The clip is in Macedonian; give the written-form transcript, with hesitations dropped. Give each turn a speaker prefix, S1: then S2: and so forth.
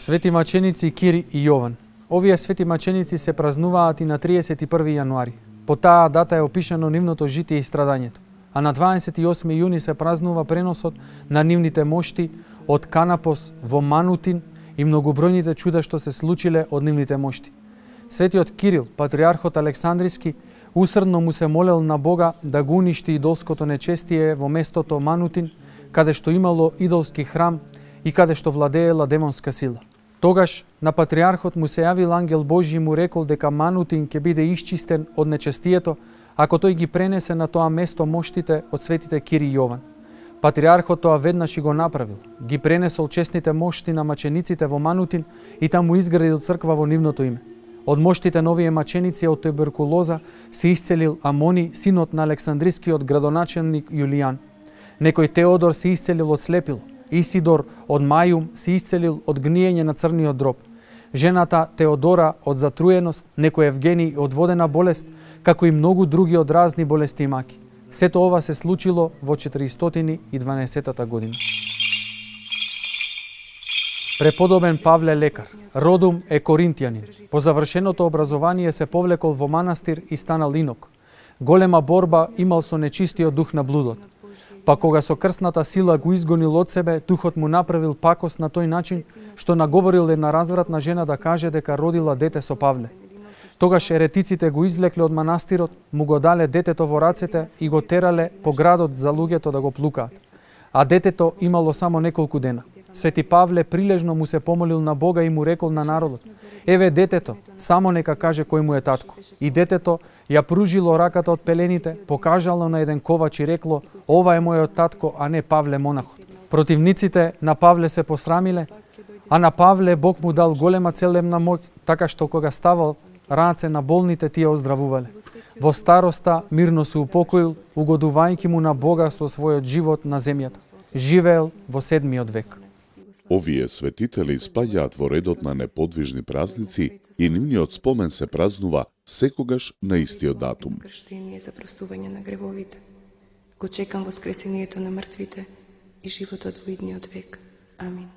S1: Свети маченици Кир и Јован. Овие свети маченици се празнуваат и на 31 јануари. По таа дата е опишано нивното житие и страдањето. А на 28 јуни се празнува преносот на нивните мошти од Канапос во Манутин и многобројните чуда што се случиле од нивните мошти. Светиот Кирил, патриархот Александриски, усрдно му се молел на Бога да го уништи идолското нечестие во местото Манутин, каде што имало идолски храм и каде што владеела демонска сила. Тогаш на патриархот му се јавил ангел Божји и му рекол дека Манутин ќе биде исчистен од нечестието, ако тој ги пренесе на тоа место моштите од светите Кир и Јован. Патриархот тоа веднаш и го направил. Ги пренесол честните мошти на мачениците во Манутин и таму изградил црква во нивното име. Од моштите на овие маченици од туберкулоза се исцелил Амони, синот на Александрискиот градоначелник Јулијан. Некој Теодор се исцелил од слепило. Исидор од Мајум се исцелил од гниење на црниот дроб. Жената Теодора од затруеност, некој Евгений од водена болест, како и многу други од разни болести и маки. Сето ова се случило во 412 година. Преподобен Павле лекар, родум е коринтијанин. По завршеното образование се повлекол во манастир и станал инок. Голема борба имал со нечистиот дух на блудот. Па кога со крсната сила го изгонил од себе, духот му направил пакост на тој начин, што наговорил една развратна жена да каже дека родила дете со Павле. Тогаш еретиците го извлекле од манастирот, му го дале детето во рацете и го терале по градот за луѓето да го плукаат. А детето имало само неколку дена. Свети Павле прилежно му се помолил на Бога и му рекол на народот: еве детето, само нека каже кој му е татко. И детето ја пружило раката од пелените, покажало на еден ковач и рекло: ова е мојот татко, а не Павле монахот. Противниците на Павле се посрамиле, а на Павле Бог му дал голема целебна моќ, така што кога ставал раце на болните, тие оздравувале. Во староста мирно се упокоил, угодувајќи му на Бога со својот живот на земјата. Живеел во 7. век.
S2: Овие светители спаѓаат во редот на неподвижни празници и нивниот спомен се празнува секогаш на истиот датум.
S3: Крштение за простување на гревовите. Го чекам воскресението на мртвите и животот во идниот век. Амин.